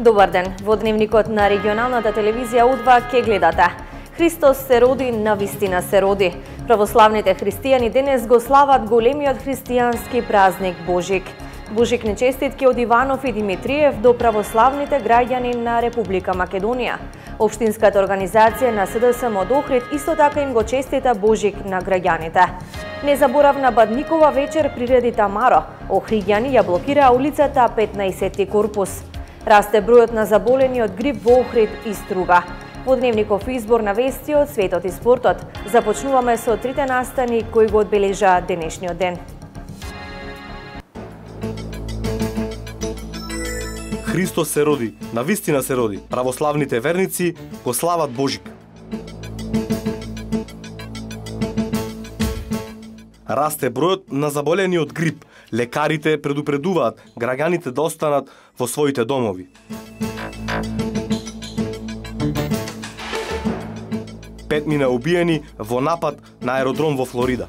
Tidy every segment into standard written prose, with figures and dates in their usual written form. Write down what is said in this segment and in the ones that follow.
Добар ден, во дневникот на регионалната телевизија У2 ке гледате. Христос се роди, навистина се роди. Православните христијани денес го слават големиот христијански празник Божик. Божикни честитки од Иванов и Димитриев до православните граѓани на Република Македонија. Општинската организација на СДСМ од Охрид исто така им го честита Божик на граѓаните. Незаборавна Бадникова вечер приреди Тамаро. Охриѓани ја блокираа улицата 15 корпус. Расте бројот на заболени од грип во Охрид и Струга. Во дневников избор на вести од светот и спортот. Започнуваме со трите настани кои го одбележаа денешниот ден. Христос се роди, навистина се роди. Православните верници го слават Божик. Расте бројот на заболени од грип. Лекарите предупредуваат граѓаните да останат во своите домови. Петмина убиени во напад на аеродром во Флорида.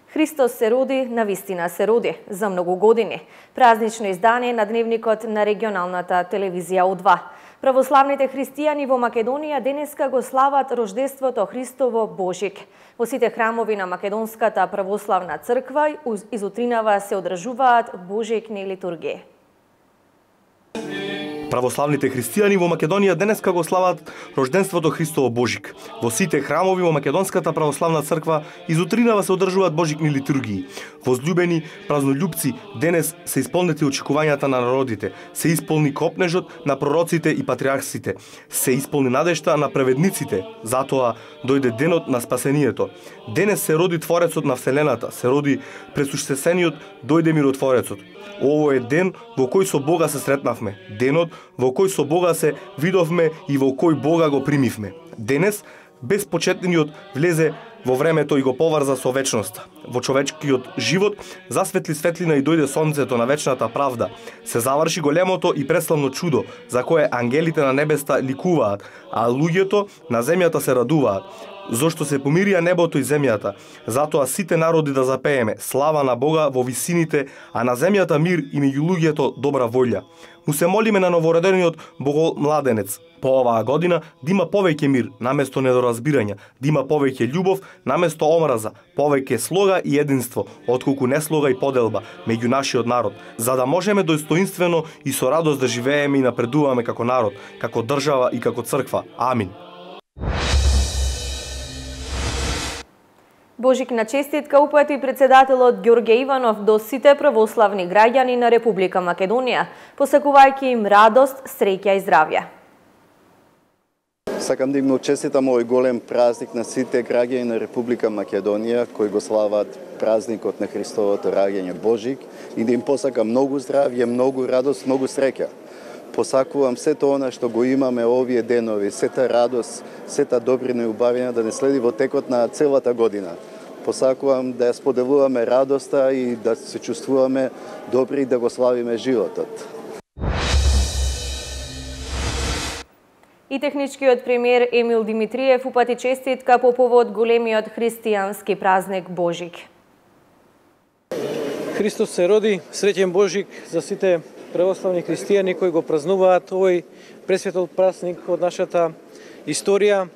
Христос се роди, навистина се роди, за многу години. Празнично издание на дневникот на регионалната телевизија У2. Православните христијани во Македонија денеска го слават рождеството Христово Божик. Во сите храмови на Македонската православна црква изутринава се одржуваат божикни литургии. Православните христијани во Македонија денеска го слават рожденството Христово Божик. Во сите храмови во Македонската православна црква изутринава се одржуваат божикни литургии. Возлюбени празнолюбци, денес се исполнети очекувањата на народите, се исполни копнежот на пророците и патриарсите, се исполни надежта на праведниците, затоа дојде денот на спасението. Денес се роди Творецот на Вселената, се роди пресуштесениот, дојде миротворецот. Ово е ден во кој со Бога се сретнавме, денот во кој со Бога се видовме и во кој Бога го примивме. Денес, безпочетниот влезе во времето и го поврза со вечноста. Во човечкиот живот засветли светлина и дојде сонцето на вечната правда. Се заврши големото и преславно чудо, за кое ангелите на небеста ликуваат, а луѓето на земјата се радуваат. Зошто се помирија небото и земјата, затоа сите народи да запееме слава на Бога во висините, а на земјата мир и меѓу луѓето добра волја. Му се молиме на новородениот Богомладенец по оваа година да има повеќе мир наместо недоразбирање, да има повеќе љубов наместо омраза, повеќе слога и единство, отколку неслога и поделба меѓу нашиот народ, за да можеме достоинствено и со радост да живееме и напредуваме како народ, како држава и како црква. Амин. Божикна честитка упати председателот Ѓорѓе Иванов до сите православни граѓани на Република Македонија, посакувајќи им радост, среќа и здравје. Сакам да им честитам овој голем празник на сите граѓани на Република Македонија кои го слават празникот на Христовото раѓање Божик и да им посакам многу здравје, многу радост, многу среќа. Посакувам сето она што го имаме овие денови, сета радост, сета добрина и убавина да не следи во текот на целата година. Посакувам да ја споделуваме радоста и да се чувствуваме добри и да го славиме животот. И техничкиот премиер Емил Димитриев упати честитка по повод големиот христијански празник Божик. Христос се роди, среќен Божик за сите православни христијани кои го празнуваат овој пресветол празник од нашата историја.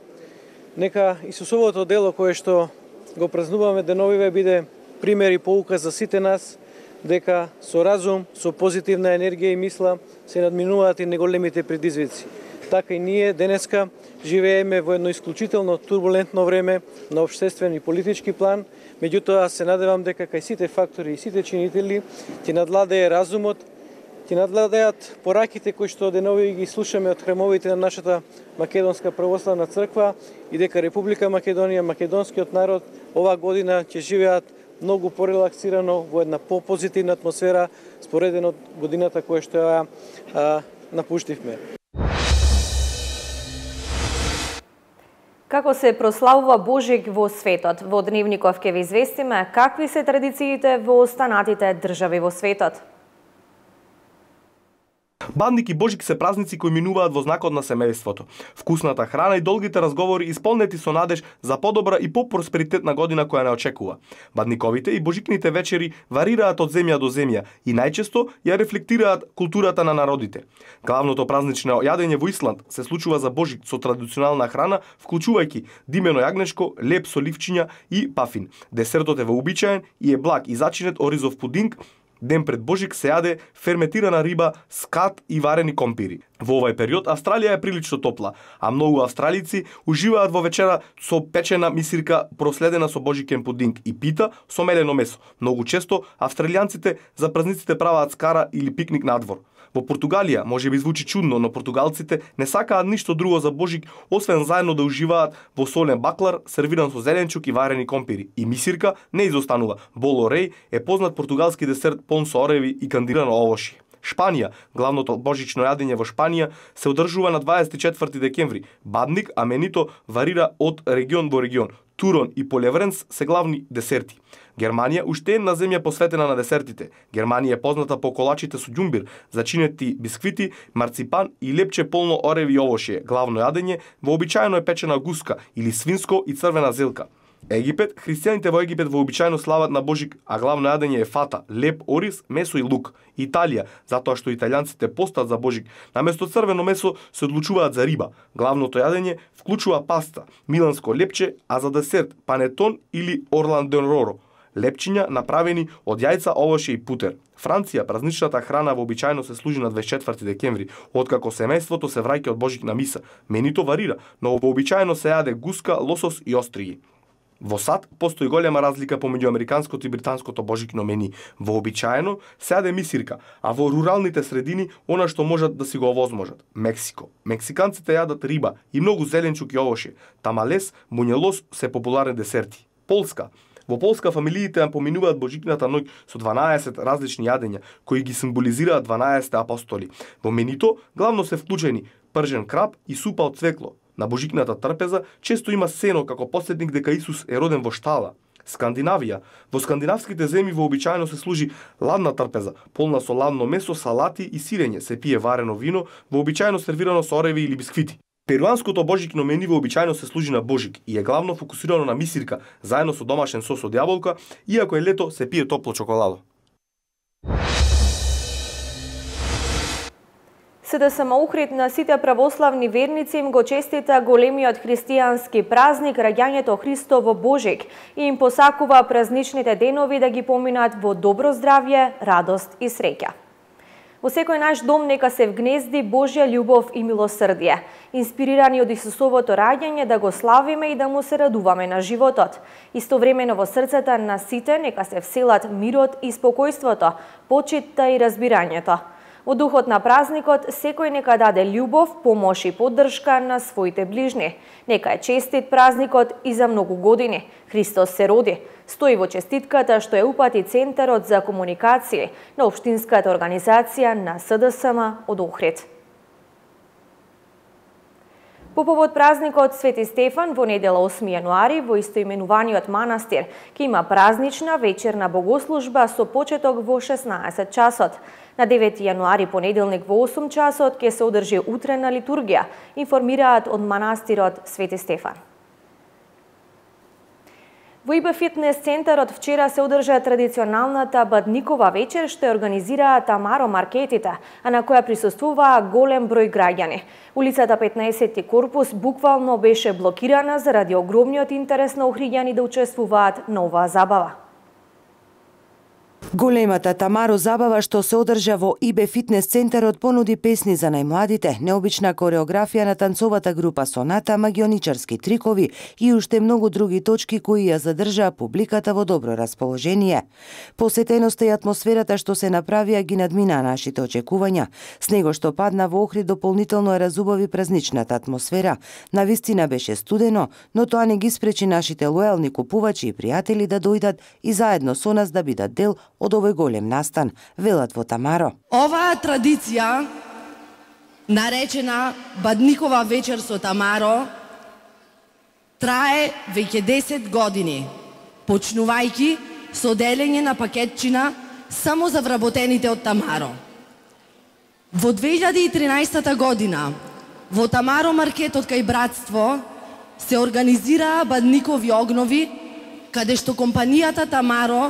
Нека Исусовото дело кое што го празнуваме деновиве биде пример и поука за сите нас, дека со разум, со позитивна енергија и мисла се надминуваат и неголемите предизвици. Така и ние денеска живееме во едно исклучително турбулентно време на општествен и политички план, меѓутоа се надевам дека кај сите фактори и сите чинители ќе надвладее разумот, ќе надвладеат пораките кои што денови ги слушаме од храмовите на нашата Македонска православна црква и дека Република Македонија, македонскиот народ оваа година ќе живеат многу порелаксирано во една попозитивна атмосфера споредено од годината која што ја напуштивме. Како се прославува Божик во светот? Во дневников ќе ви известиме какви се традициите во останатите држави во светот. Бадник и Божик се празници кои минуваат во знакот на семејството. Вкусната храна и долгите разговори исполнети со надеж за подобра и по-просперитетна година која не очекува. Бадниковите и божикните вечери варираат од земја до земја и најчесто ја рефлектираат културата на народите. Главното празнично јадење во Исланд се случува за Божик со традиционална храна, вклучувајќи димено јагнешко, леп со ливчиња и пафин. Десертот е вообичаен и е благ и зачинет оризов пудинг. Ден пред Божик се јаде ферметирана риба, скат и варени компири. Во овој период Австралија е прилично топла, а многу австралици уживаат во вечера со печена мисирка проследена со божикен пудинг и пита со мелено месо. Многу често австралијанците за празниците праваат скара или пикник надвор. Во Португалија може би звучи чудно, но португалците не сакаат ништо друго за Божик, освен заедно да уживаат во солен баклар, сервиран со зеленчук и варени компири. И мисирка не изостанува. Боло реј е познат португалски десерт пон со ореви и кандирано овошје. Шпанија, главното божично јадење во Шпанија, се одржува на 24 декември. Бадник, аменито, варира од регион во регион. Турон и полевренс се главни десерти. Германија уште една земја посветена на десертите. Германија е позната по колачите со ѓумбир, зачинети бисквити, марципан и лепче полно ореви и овошје. Главно јадење вообичаено е печена гуска или свинско и црвена зелка. Египет, христијаните во Египет вообичаено слават на Божик, а главно јадење е фата, леп, ориз, месо и лук. Италија, затоа што италијанците постат за Божик, наместо црвено месо се одлучуваат за риба. Главното јадење вклучува паста, миланско лепче, а за десерт панетон или орландероро. Лепчиња направени од јајца, овошје и путер. Франција, празничната храна вообичаено се служи на 24 декември, откако семејството се враќа од Божик на миса. Менито варира, но вообичаено се јаде гуска, лосос и остриги. Во САД постои голема разлика помеѓу американското и британското божикно мени. Вообичаено се јаде мисирка, а во руралните средини она што можат да си го овозможат. Мексико. Мексиканците јадат риба и многу зеленчук и овошје. Тамалес, муњелос се популарни десерти. Полска. Во Полска фамилиите ја поминуваат Божикната ноќ со 12 различни јадења, кои ги символизираат 12 апостоли. Во менито главно се вклучени пржен краб и супа од цвекло. На Божикната трпеза често има сено како подсетник дека Исус е роден во штала. Скандинавија. Во скандинавските земји вообичаено се служи ладна трпеза, полна со ладно месо, салати и сирење, се пие варено вино, вообичаено сервирано со ореви или бисквити. Перуанското божикно мени вообичаено се служи на Божик и е главно фокусирано на мисирка, заедно со домашен сос од јаболка, иако е лето се пие топло чоколадо. СДСМ Охрид на сите православни верници им го честита големиот христијански празник раѓањето Христово Божик и им посакува празничните денови да ги поминат во добро здравје, радост и среќа. Во секој наш дом нека се вгнезди Божја љубов и милосрдие, инспирирани од Исусовото раѓање да го славиме и да му се радуваме на животот. Истовремено во срцата на сите нека се вселат мирот и спокојството, почитта и разбирањето. Во духот на празникот, секој нека даде љубов, помош и поддршка на своите ближни. Нека е честит празникот и за многу години. Христос се роди. Стои во честитката што е упати Центарот за комуникација на Општинската организација на СДСМ од Охрид. По повод празникот Свети Стефан во недела 8 јануари во истоименуваниот манастир ќе има празнична вечерна богослужба со почеток во 16 часот. На 9 јануари понеделник во 8 часот ќе се одржи утрена литургија, информираат од манастирот Свети Стефан. Во ИБ Фитнес центарот вчера се одржа традиционалната Бадникова вечер што ја организираа Тамаро маркетите, а на која присуствуваа голем број граѓани. Улицата 15 корпус буквално беше блокирана заради огромниот интерес на охриѓани да учествуваат на оваа забава. Големата Тамаро забава што се одржа во ИБ Фитнес центарот понуди песни за најмладите, необична кореографија на танцовата група Соната, магионичарски трикови и уште многу други точки кои ја задржаа публиката во добро расположение. Посетеноста и атмосферата што се направија ги надмина нашите очекувања. Снего што падна во Охрид дополнително ја разубави празничната атмосфера. Навистина беше студено, но тоа не ги спречи нашите лојални купувачи и пријатели да дојдат и заедно со нас да бидат дел од овој голем настан, велат во Тамаро. Оваа традиција, наречена Бадникова вечер со Тамаро, трае веќе 10 години, почнувајќи со делење на пакетчина само за вработените од Тамаро. Во 2013 година во Тамаро маркетот кај Братство се организираа бадникови огнови, каде што компанијата Тамаро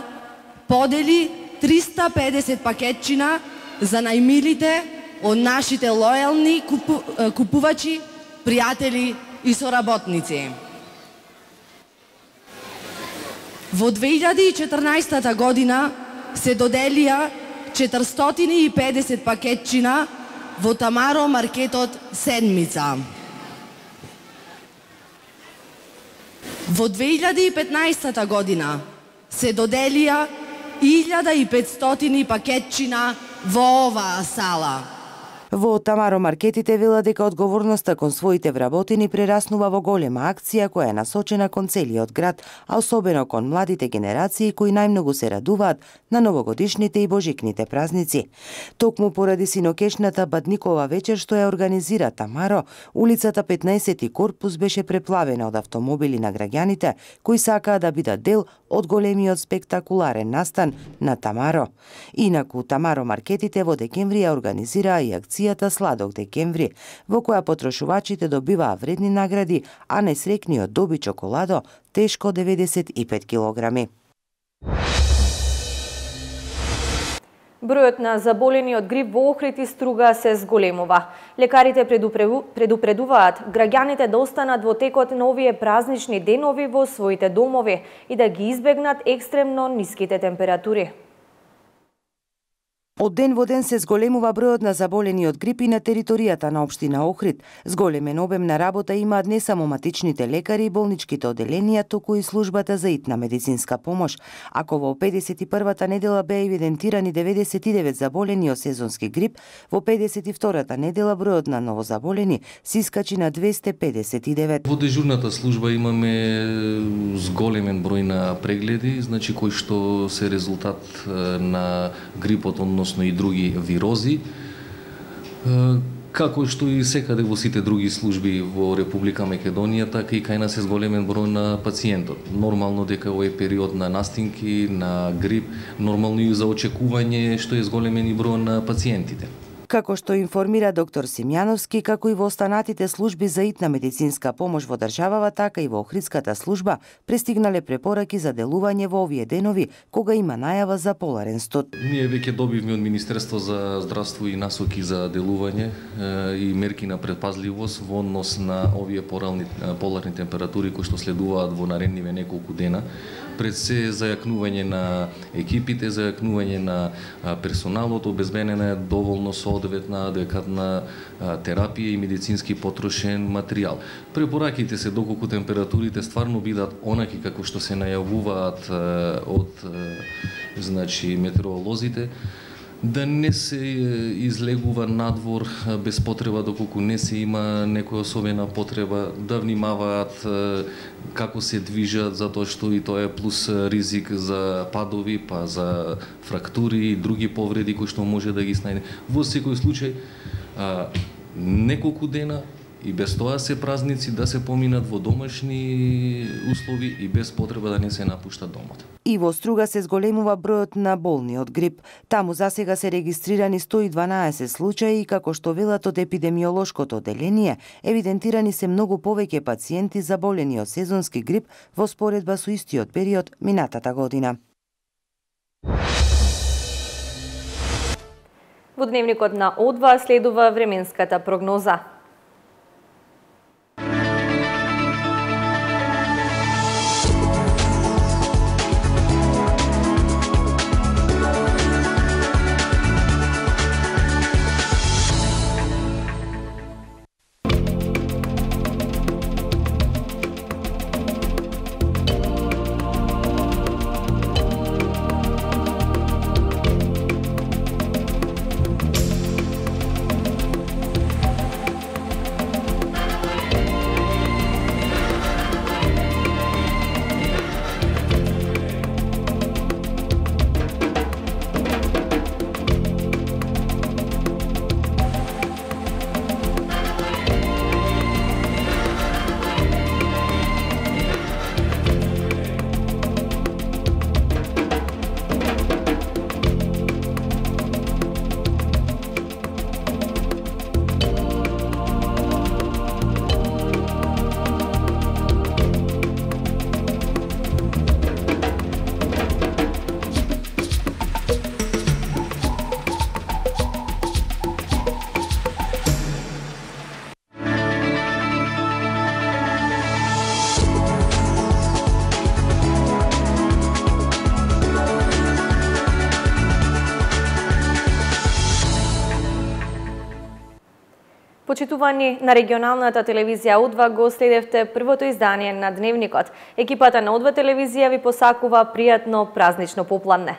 подели 350 пакетчина за најмилите од нашите лојални купувачи, пријатели и соработници. Во 2014 година се доделија 450 пакетчина во Тамаро маркетот Седмица. Во 2015 година се доделија 1500 пакетчина во оваа сала. Во Тамаро маркетите велат дека одговорноста кон своите вработени прераснува во голема акција која е насочена кон целиот град, а особено кон младите генерации кои најмногу се радуваат на новогодишните и божикните празници. Токму поради синокешната бадникова вечер што ја организира Тамаро, улицата 15 корпус беше преплавена од автомобили на граѓаните кои сакаа да бидат дел од големиот спектакуларен настан на Тамаро. Инаку Тамаро маркетите во декември ја организираа и акцијата Сладок декември, во која потрошувачите добиваа вредни награди, а несрекниот доби чоколадо тешко 95 килограми. Бројот на заболени од грип во Охрид и Струга се зголемува. Лекарите предупредуваат граѓаните да останат во текот на овие празнични денови во своите домови и да ги избегнат екстремно ниските температури. Од ден во ден се зголемува бројот на заболени од грип и на територијата на општина Охрид. Зголемен обем на работа имаат не само матичните лекари и болничките оделенија, туку и службата за итна медицинска помош. Ако во 51-та недела беа евидентирани 99 заболени од сезонски грип, во 52-та недела бројот на новозаболени се искачи на 259. Во дежурната служба имаме зголемен број на прегледи, значи кои што се резултат на грипот, односно и други вирози, како што и секаде во сите други служби во Република Македонија, така и кај нас е зголемен број на пациентот. Нормално дека овој период на настинки, на грип, нормално и за очекување што е зголемен и број на пациентите. Како што информира доктор Симјановски, како и во останатите служби за итна медицинска помош во државава, така и во Охридската служба пристигнале препораки за делување во овие денови, кога има најава за поларен студ. Ние веќе добивме од Министерство за здравство и насоки за делување и мерки на предпазливост во однос на овие поларни температури кои што следуваат во наредниве неколку дена. Пред се зајакнување на екипите, зајакнување на персоналот, обезбедена е доволно соодветна, адекватна терапија и медицински потрошен материјал. Препораките се доколку температурите стварно бидат онаки како што се најавуваат од метеоролозите, да не се излегува надвор без потреба доколку не се има некоја особена потреба, да внимаваат како се движат, затоа што и тоа е плюс ризик за падови, па за фрактури и други повреди кои што може да ги снајде. Во секој случај, неколку дена и без тоа се празници да се поминат во домашни услови и без потреба да не се напушта домот. И во Струга се зголемува бројот на болни од грип. Таму засега се регистрирани 112 случаи и како што велат од епидемиолошкото оделение, евидентирани се многу повеќе пациенти заболени од сезонски грип во споредба со истиот период минатата година. Во дневникот на О2 следува временската прогноза. Почитувани, на регионалната телевизија У2 го следевте првото издание на Дневникот. Екипата на У2 телевизија ви посакува пријатно празнично попладне.